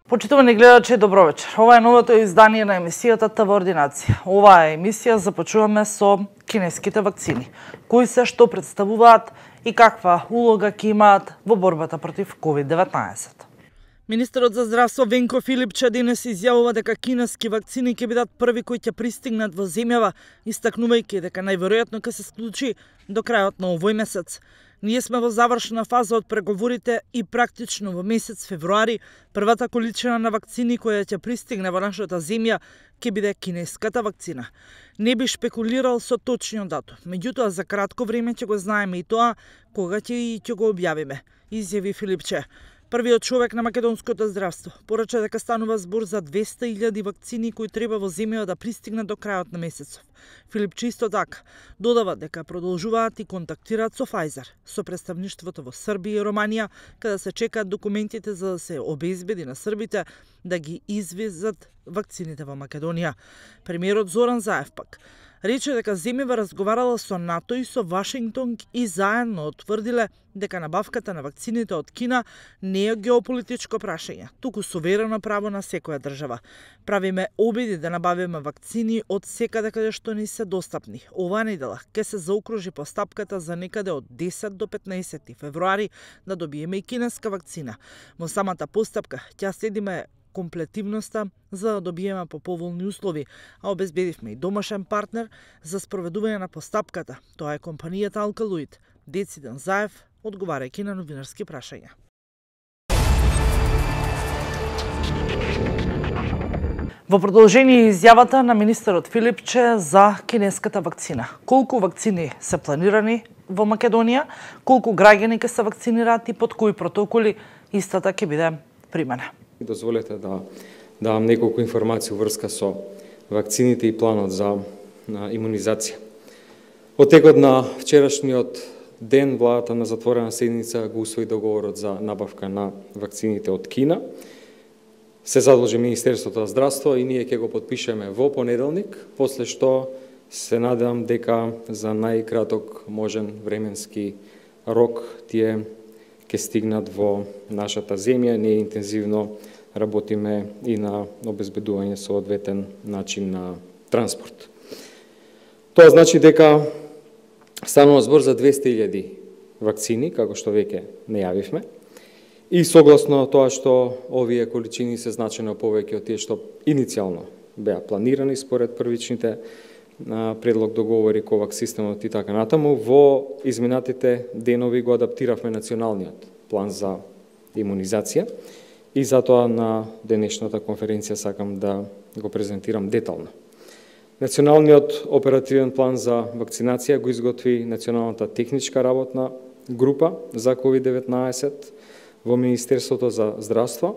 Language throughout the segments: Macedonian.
Почитувани гледачи, добро вечер. Ова е новото издание на емисијата ТВ Ординација. Оваа емисија започуваме со кинеските вакцини. Кои се, што представуваат и каква улога ќе имаат во борбата против COVID-19. Министерот за здравство Венко Филипче денес изјавува дека кинески вакцини ќе бидат први кои ќе пристигнат во земјава, истакнувајќи дека најверојатно ќе се случи до крајот на овој месец. Ние сме во завршна фаза од преговорите и практично во месец февруари првата количина на вакцини која ќе пристигне во нашата земја ќе биде кинеската вакцина. Не би шпекулирал со точниот датум, меѓутоа за кратко време ќе го знаеме и тоа кога ќе го објавиме, изјави Филипче. Првиот човек на македонското здравство порача дека станува збор за 200.000 вакцини кои треба во земјава да пристигнат до крајот на месецов. Филипче исто така додава дека продолжуваат и контактираат со Pfizer, со представништвото во Србија и Романија, каде се чекаат документите за да се обезбеди на србите да ги извезат вакцините во Македонија. Премиерот Зоран Заев пак рече дека земјава разговарала со НАТО и со Вашингтон и заедно утврдиле дека набавката на вакцините од Кина не е геополитичко прашање, туку суверено право на секоја држава. Правиме обиди да набавиме вакцини од секаде каде што ни се достапни. Оваа недела ќе се заокружи постапката за некаде од 10 до 15 февруари да добиеме и кинеска вакцина. Во самата постапка ќе следиме комплетивноста за да добиеме по поволни услови, а обезбедивме и домашен партнер за спроведување на постапката. Тоа е компанијата Алкалоид. Дециден Заев, одговарајќи на новинарски прашања. Во продолжение изјавата на министерот Филипче за кинеската вакцина. Колку вакцини се планирани во Македонија, колку граѓани ќе се вакцинираат и под кои протоколи истата ќе биде примена. Дозволете да давам неколку информации врска со вакцините и планот за имунизација. Од текот на вчерашниот ден, владата на затворена седница го усвои договорот за набавка на вакцините од Кина. Се задолжи Министерството за здравство и ние ќе го подпишеме во понеделник, после што се надевам дека за најкраток можен временски рок тие ќе стигнат во нашата земја. Ние интензивно работиме и на обезбедување соодветен начин на транспорт. Тоа значи дека станува збор за 200.000 вакцини, како што веќе најавивме, и согласно тоа што овие количини се значено повеќе од тие што иницијално беа планирани според првичните предлог договори ковак системот и така натаму, во изминатите денови го адаптиравме националниот план за имунизација и затоа на денешната конференција сакам да го презентирам детално. Националниот оперативен план за вакцинација го изготви Националната техничка работна група за COVID-19 во Министерството за здравство.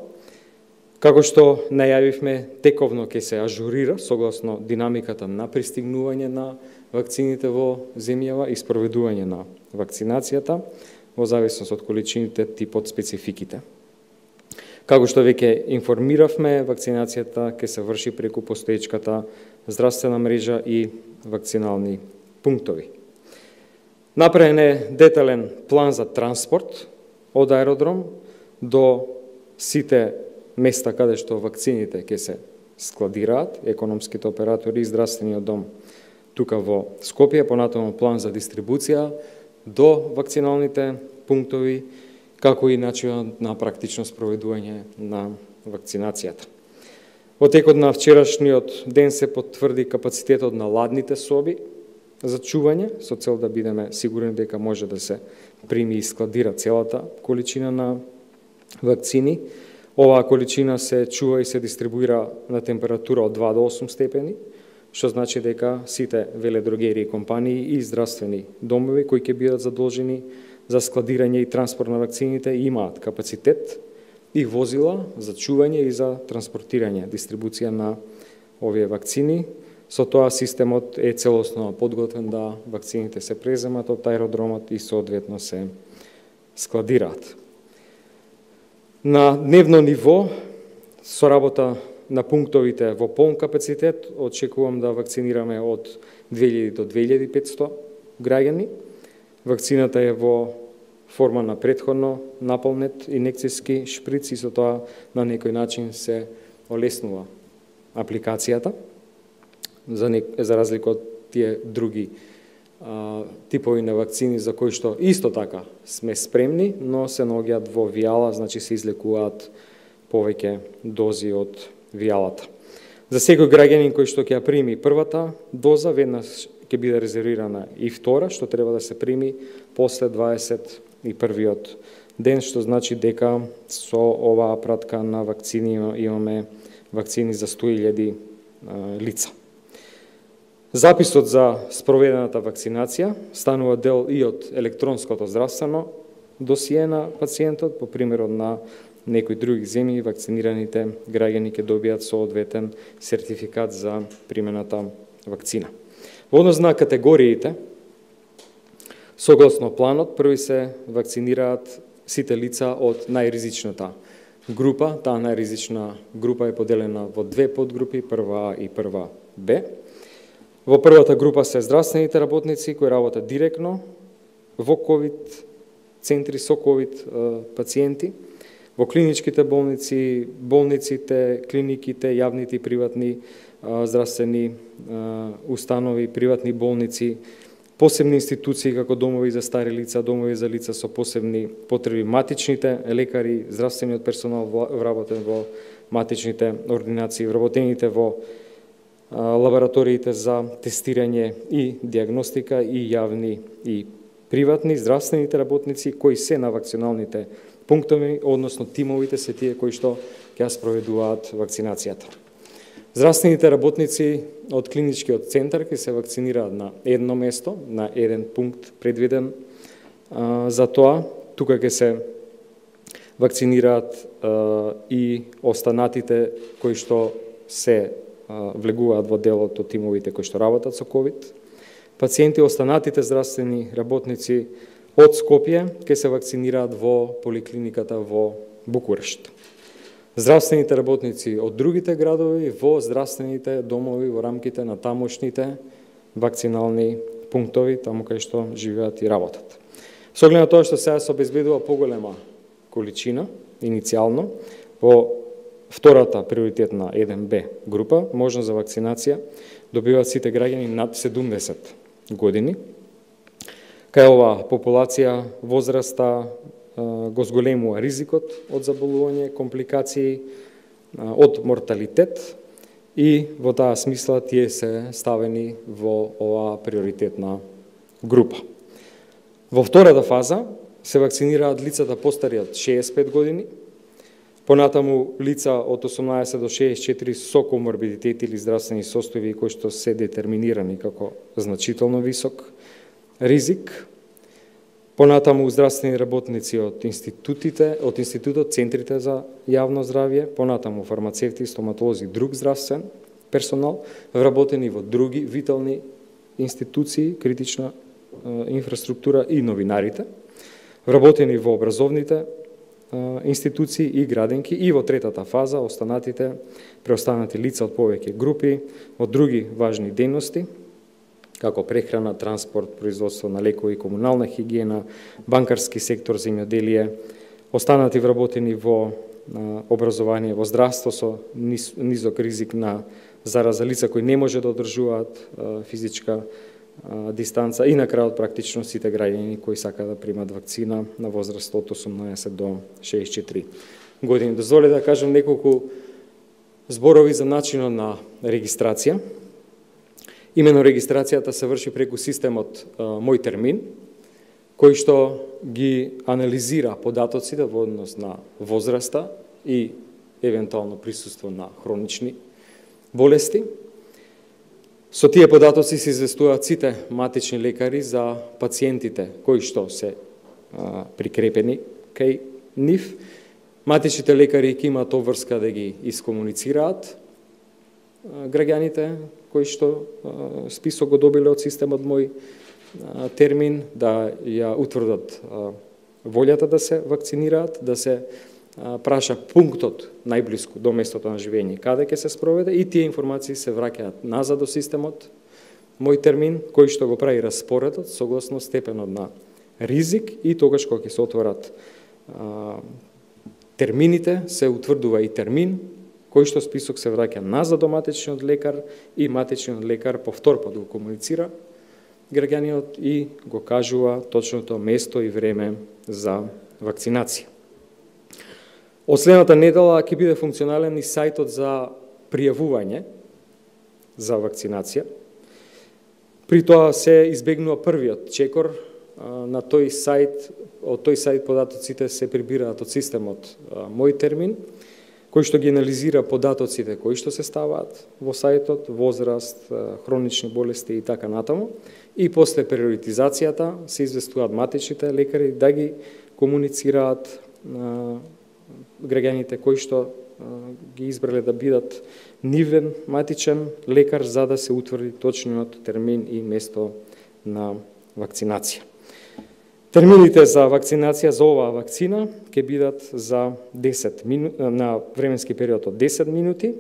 Како што најавивме, тековно ќе се ажурира согласно динамиката на пристигнување на вакцините во земјава и спроведување на вакцинацијата во зависност од количините, типот, спецификите. Како што веќе информиравме, вакцинацијата ќе се врши преку постоечката здравствена мрежа и вакцинални пунктови. Направен е детален план за транспорт од аеродром до сите места каде што вакцините ќе се складираат, економските оператори и здравствениот дом тука во Скопје, понатаму план за дистрибуција до вакциналните пунктови, како и начинот на практично спроведување на вакцинацијата. Во текот на вчерашниот ден се потврди капацитетот на ладните соби за чување, со цел да бидеме сигурни дека може да се прими и складира целата количина на вакцини. Оваа количина се чува и се дистрибуира на температура од 2 до 8 степени, што значи дека сите веледрогерии компании и здравствени домови кои ќе бидат задолжени за складирање и транспорт на вакцините имаат капацитет и возила за чување и за транспортирање, дистрибуција на овие вакцини. Со тоа системот е целосно подготвен да вакцините се преземат од аеродромот и соодветно се складираат. На дневно ниво, со работа на пунктовите во полн капацитет, очекувам да вакцинираме од 2000 до 2500 граѓани. Вакцината е во форма на претходно наполнет инекцијски шприц и со тоа на некој начин се олеснува апликацијата, за разлика од тие други типови на вакцини за кои што исто така сме спремни, но се наоѓаат во вијала, значи се излекуваат повеќе дози од вијалата. За секој граѓанин кој што ќе ја прими првата доза, веднаш ќе биде резервирана и втора, што треба да се прими после 21-иот ден, што значи дека со оваа пратка на вакцини имаме вакцини за 100.000 лица. Записот за спроведената вакцинација станува дел и од електронското здравствено досие на пациентот, по примерот на некои други земји, вакцинираните граѓани ќе добијат соодветен сертификат за примената вакцина. Во однос на категориите, согласно планот, први се вакцинираат сите лица од најризичната група. Таа најризична група е поделена во две подгрупи, прва А и прва Б. Во првата група се здравствените работници кои работат директно во ковид центри со ковид пациенти, во клиничките болници, болниците, клиниките, јавните и приватни здравствени установи, приватни болници, посебни институции како домови за стари лица, домови за лица со посебни потреби, матичните лекари, здравствениот персонал вработен во матичните ординации, вработените во лабораториите за тестирање и диагностика и јавни и приватни, здравствените работници кои се на вакциналните пунктови, односно тимовите се тие кои што ќе спроведуваат вакцинацијата. Здравствените работници од клиничкиот центар ќе се вакцинираат на едно место, на еден пункт предвиден за тоа. Тука ќе се вакцинираат и останатите кои што се влегуваат во делот од тимовите кои што работат со ковид. Пациенти, останатите здравствени работници од Скопје ќе се вакцинираат во поликлиниката во Букурешт. Здравствените работници од другите градови во здравствените домови во рамките на тамошните вакцинални пунктови, таму кај што живеат и работат. Со оглед на тоа што сега се обезбедува поголема количина, иницијално, во втората приоритетна 1Б група, можност за вакцинација, добиваат сите граѓани над 70 години. Кај оваа популација возраста го зголемува ризикот од заболување, компликации, од морталитет и во таа смисла тие се ставени во оваа приоритетна група. Во втората фаза се вакцинираат лицата постари од 65 години, понатаму лица од 18 до 64 со коморбидитети или здравствени состојби кои што се детерминирани како значително висок ризик, понатаму здравствени работници од институтот, центрите за јавно здравје, понатаму фармацевти, стоматолози, друг здравствен персонал, вработени во други витални институции, критична инфраструктура и новинарите, вработени во образовните институции и градинки, и во третата фаза останатите преостанати лица од повеќе групи, од други важни дејности, како прехрана, транспорт, производство на лекови, комунална хигиена, банкарски сектор, земјоделие, останати вработени во образование, во здравство со низок ризик на зараза, лица кои не може да одржуваат физичка дистанца и на крајот практично сите граѓани кои сакаат да примат вакцина на возраст од 18 до 64 години. Дозволете да кажам неколку зборови за начинот на регистрација. Имено регистрацијата се врши преку системот Мој термин, кој што ги анализира податоците во однос на возраста и евентуално присуство на хронични болести. Со тие податоци се известуваат сите матични лекари за пациентите кои што се прикрепени кај нив. Матичните лекари ќе имаат обврска да ги искомуницираат граѓаните кои што список го добиле од системот Мој термин, да ја утврдат волјата да се вакцинираат, да се праша пунктот најблиску до местото на живење каде ќе се спроведе и тие информации се враќаат назад до системот Мој термин, кој што го прави распоредот согласно степенот на ризик и тогаш кога ќе се отворат термините, се утврдува и термин, кој што список се враќа назад до матичниот лекар и матичниот лекар повтор пат го комуницира граѓанинот и го кажува точното место и време за вакцинација. Од следната недела ќе биде функционален и сајтот за пријавување за вакцинација. При тоа се избегнува првиот чекор на тој сајт. Од тој сајт податоците се прибираат од системот Мој термин, кој што ги анализира податоците кои што се ставаат во сајтот, возраст, хронични болести и така натаму, и после приоритизацијата се известуваат матичните лекари да ги комуницираат граѓаните кои што ги избрале да бидат нивен матичен лекар за да се утврди точниот термин и место на вакцинација. Термините за вакцинација за оваа вакцина ќе бидат за 10 минути, на временски период од 10 минути.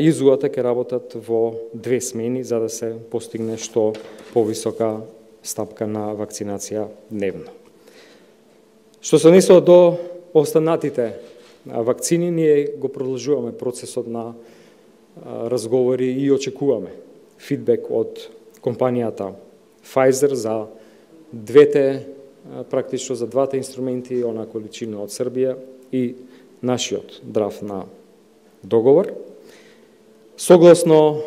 Изуата ќе работат во 2 смени за да се постигне што повисока стапка на вакцинација дневно. Што се однесува до останатите вакцини, ние го продолжуваме процесот на разговори и очекуваме фидбек од компанијата Pfizer за практично за двата инструменти, она количина од Србија и нашиот драфт на договор. Согласно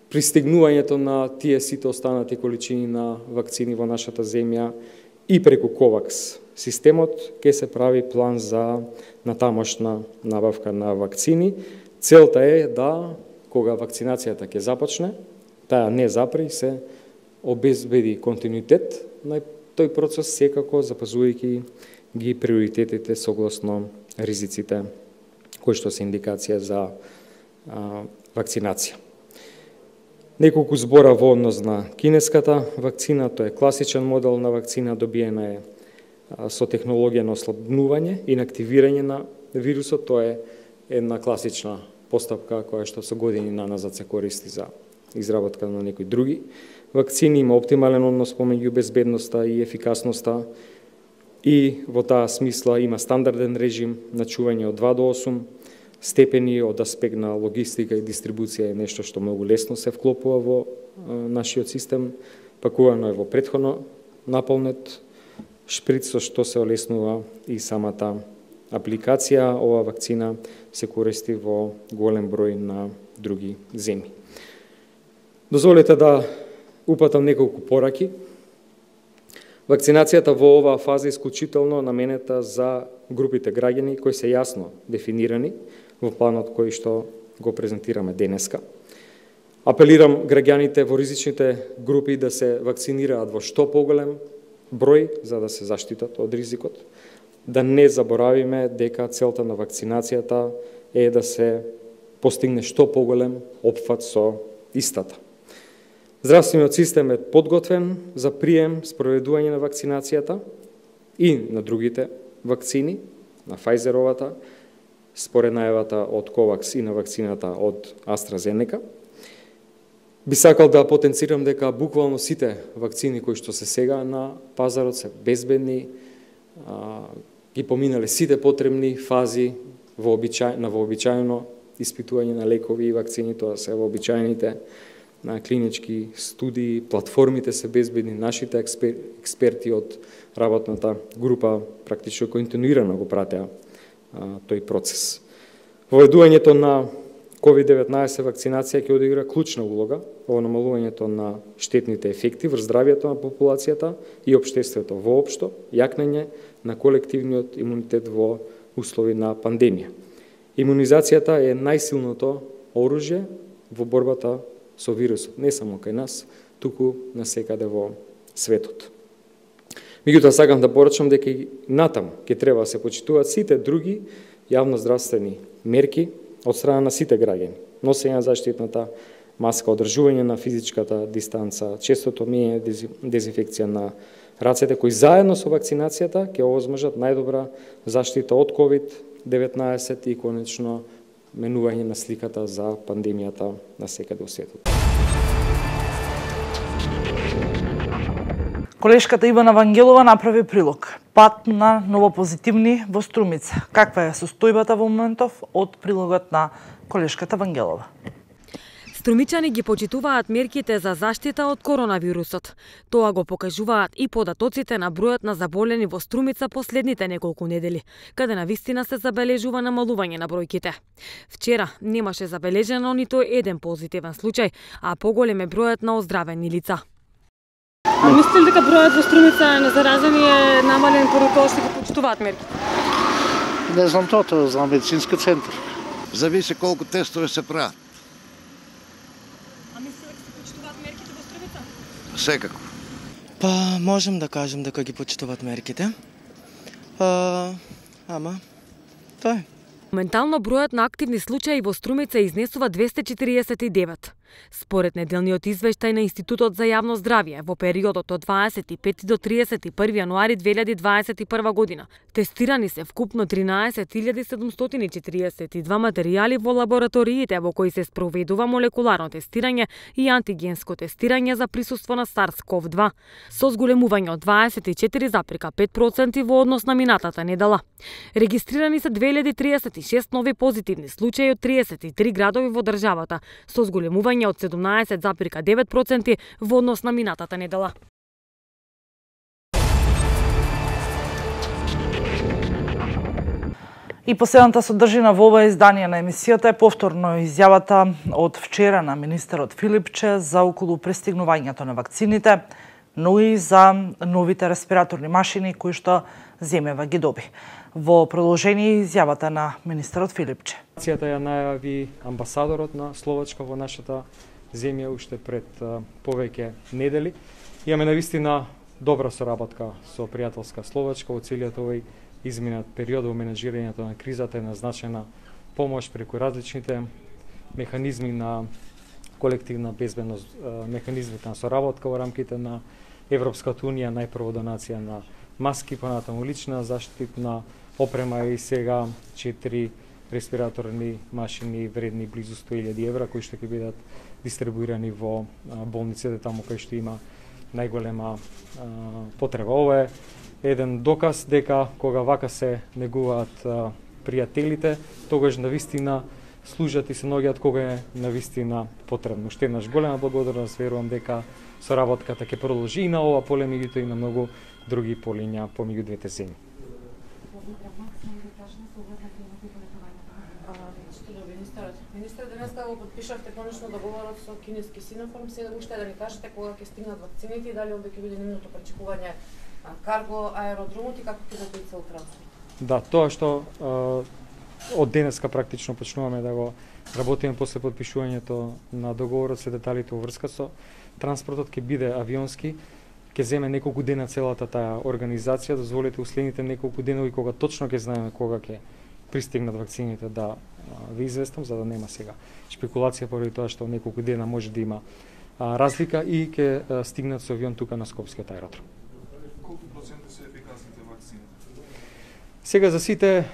пристигнувањето на тие сите останати количини на вакцини во нашата земја и преку COVAX системот ќе се прави план за натамошна набавка на вакцини. Целта е да, кога вакцинацијата ќе започне, таа не запре, се обезбеди континуитет на тој процес, секако запазувајќи ги приоритетите согласно ризиците кои што се индикација за вакцинација. Неколку збора во однос на кинеската вакцина. Тоа е класичен модел на вакцина, добиена е со технологија на ослабнување и на активирање на вирусот. Тоа е една класична постапка која што со години наназад се користи за изработка на некои други вакцини. Има оптимален однос помеѓу безбедноста и ефикасноста и во таа смисла има стандарден режим на чување од 2 до 8 степени. Од аспект на логистика и дистрибуција е нешто што многу лесно се вклопува во нашиот систем. Пакувано е во претходно наполнет шприц, со што се олеснува и самата апликација. Ова вакцина се користи во голем број на други земји. Дозволете да упатам неколку пораки. Вакцинацијата во оваа фаза е исклучително наменета за групите граѓани кои се јасно дефинирани во планот кој што го презентираме денеска. Апелирам граѓаните во ризичните групи да се вакцинираат во што поголем број за да се заштитат од ризикот. Да не заборавиме дека целта на вакцинацијата е да се постигне што поголем опфат со истата. Здравствениот систем е подготвен за прием, спроведување на вакцинацијата и на другите вакцини, на Pfizerovата, според најавата од COVAX и на вакцината од AstraZeneca. Би сакал да потенцирам дека буквално сите вакцини кои што се сега на пазарот се безбедни, ги поминале сите потребни фази на вообичаено испитување на лекови и вакцини, тоа се вообичаените на клинички студии, платформите се безбедни, нашите експерти од работната група практично континуирано го пратеа тој процес. Воведувањето на COVID-19 вакцинација ќе одигра клучна улога во намалувањето на штетните ефекти врз здравјето на популацијата и општеството воопшто, јакнење на колективниот имунитет во услови на пандемија. Имунизацијата е најсилното оружје во борбата со вирусот, не само кај нас, туку насекаде во светот. Меѓутоа сакам да порачам дека и натаму ќе треба да се почитуваат сите други јавноздравствени мерки од страна на сите граѓани. Носење на заштитната маска, одржување на физичката дистанца, честото миење, дезинфекција на рацете, кои заедно со вакцинацијата ќе овозможат најдобра заштита од COVID-19 и конечно менување на сликата за пандемијата на секаде во светот. Колешката Ивана Вангелова направи прилог. Пат на новопозитивни во Струмица. Каква е состојбата во моментов од прилогот на колешката Вангелова? Струмичани ги почитуваат мерките за заштита од коронавирусот. Тоа го покажуваат и податоците на бројот на заболени во Струмица последните неколку недели, каде навистина се забележува намалување на бројките. Вчера немаше забележено ниту еден позитивен случај, а поголем е бројот на оздравени лица. А мислите ли дека бројот во Струмица на заразени е намален поради тоа што ги почитуваат мерките? Не знам тоа за медицински центар. Зависи колку тестове се прават. А мислите дека се почитуваат мерките во Струмица? Секако. Па, можем да кажем дека ги почитуваат мерките. Ама, тоа е. Моментално бројот на активни случаи во Струмица изнесува 249. Според неделниот извештај на Институтот за јавно здравје, во периодот од 25 до 31 јануари 2021 година, тестирани се вкупно 13.742 материјали во лабораториите во кои се спроведува молекуларно тестирање и антигенско тестирање за присуство на SARS-CoV-2, со зголемување од 24,5% во однос на минатата недела. Регистрирани се 2036 нови позитивни случаи од 33 градови во државата, со зголемување од 17,9% во однос на минатата недела. И последната содржина во ова издание на емисијата е повторно изјавата од вчера на министерот Филипче за околу пристигнувањето на вакцините, но и за новите респираторни машини кои што земјава ги доби. Во продолжение изјавата на министерот Филипче. Акцијата ја најави амбасадорот на Словачка во нашата земја уште пред повеќе недели. Имаме навистина добра соработка со пријателска Словачка во целиот овој изминат период во менеджирањето на кризата е назначена помош преку различните механизми на колективна безбедност, механизмите на соработка во рамките на Европската унија, најпрво донација на маски, понатаму лична заштитна опрема и сега 4 респираторни машини вредни близу 100.000 евра кои што ќе бидат дистрибуирани во болниците таму кај што има најголема потреба. Ова е еден доказ дека кога вака се негуваат пријателите, тогаш навистина служат и се наоѓаат кога е навистина потребно. Уште еднаш голема благодарност, верувам дека соработката ќе продолжи и на ова поле, меѓуто и на многу други полиња помеѓу двете земји. Министер, денеска го подпишавте конечно договорот со кинески Синофарм, сега уште да ни кажете кога ќе стигнат вакцините и дали овде ќе биде нивното пречекување карго аеродромот и како ќе биде тој цел транспорт? Да, тоа што од денеска практично почнуваме да го работиме после подпишувањето на договорот, се деталите во врска со транспортот ќе биде авионски, ќе земе неколку дена целата таа организација, дозволете уследните неколку денови кога точно ќе знаеме кога ќе пристигнат вакцините да ви известам, за да нема сега шпекулација поради тоа што неколку дена може да има разлика и ќе стигнат со авион тука на Скопскиот аеродром. Колку проценти се ефикасните вакцини? Сега за сите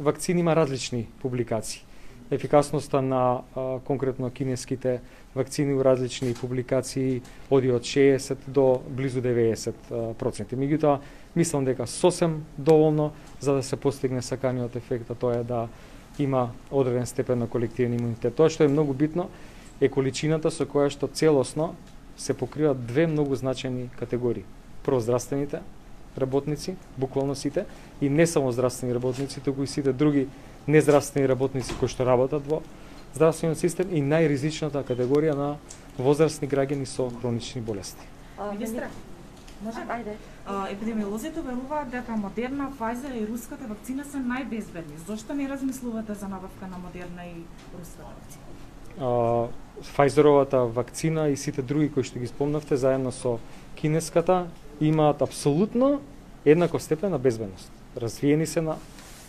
вакцини има различни публикации. Ефикасноста на конкретно кинеските вакцини у различни публикации оди од 60 до близу 90%. Меѓутоа, мислам дека сосем доволно за да се постигне саканиот ефект, а тоа е да има одреден степен на колективен имунитет. Тоа што е многу битно е количината со која што целосно се покриваат две многу значајни категории. Прво здравствените работници, буквално сите, и не само здравствени работници, туку и сите други нездравствени работници кои што работат во здравствениот систем и најризичната категорија на возрастни граѓани со хронични болести. Министре, може? Ајде. Епидемиолозите веруваат дека Модерна, Pfizer и руската вакцина се најбезбедни. Зошто не размислувате за набавка на Модерна и руската вакцина? Pfizeровата вакцина и сите други кои што ги спомнавте заедно со кинеската имаат апсолутно еднаков степен на безбедност. Развиени се на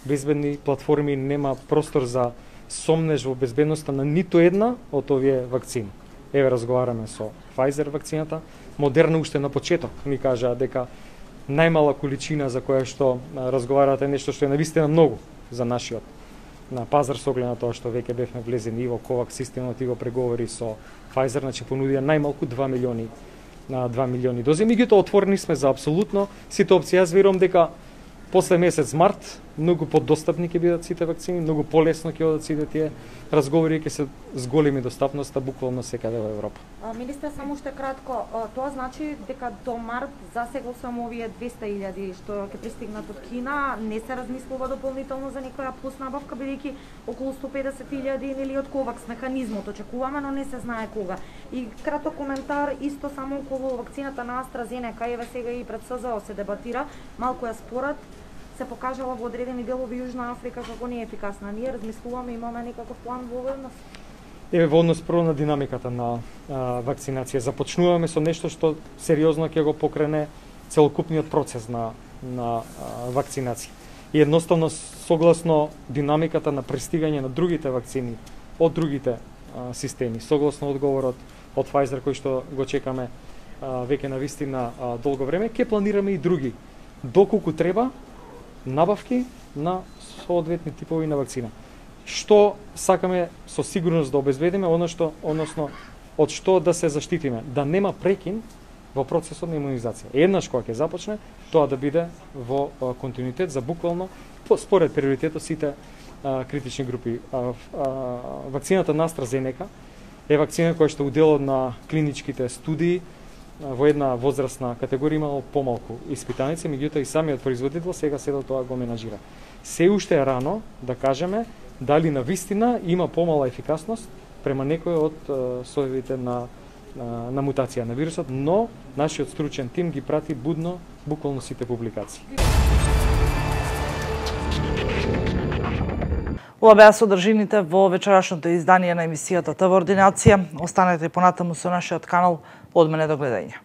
безбедни платформи, нема простор за сомнеж во безбедноста на ниту една од овие вакцини. Еве разговараме со Pfizer вакцината, Модерна уште на почеток ни кажаа дека најмала количина за која што разговарате нешто што е навистина многу за нашиот на пазар со оглед на тоа што веќе бевме влезени и во ковак системот и го преговори со Pfizer, значи понудија најмалку 2 милиони на 2 милиони дози. Меѓутоа отворени сме за апсолутно сите опции. Јас верувам дека после месец март многу подостапни ќе бидат сите вакцини, многу полесно ќе одат сите тие разговори, ќе се зголеми достапноста буквално секаде во Европа. Министре, само уште кратко, тоа значи дека до март засега само овие 200.000 што ќе пристигнат од Кина, не се размислува дополнително за некоја плюс набавка, бидејќи околу 150.000 или од ковакс механизмот очекуваме, но не се знае кога. И краток коментар исто само околу вакцината на AstraZeneca, еве сега и пред СЗО се дебатира, малку ја спорат, се покажала во одредени делови Јужна Африка како не е ефикасна. Ние размислуваме, имаме некаков план во однос? Еве во однос прво на динамиката на вакцинација. Започнуваме со нешто што сериозно ќе го покрене целокупниот процес на вакцинација. И едноставно согласно динамиката на пристигање на другите вакцини од другите системи, согласно одговорот од Pfizer кој што го чекаме веќе на вистина долго време, ќе планираме и други доколку треба набавки на соодветни типови на вакцина. Што сакаме со сигурност да обезбедиме, односно од што да се заштитиме, да нема прекин во процесот на имунизација. Еднаш кога ќе започне, тоа да биде во континуитет за буквално според приоритетот сите критични групи. Вакцината на AstraZeneca е вакцина која што уделот на клиничките студии во една возрастна категорија имало помалку испитаници, меѓутоа и самиот производител сега седо тоа го менажира. Се уште е рано да кажеме дали на вистина има помала ефикасност према некој од соевите на мутација на вирусот, но нашиот стручен тим ги прати будно буквално сите публикации. Ова беа содржините во вечерашното издание на емисијата ТВ Ординација. Останете понатаму со нашиот канал. Од мене до гледање.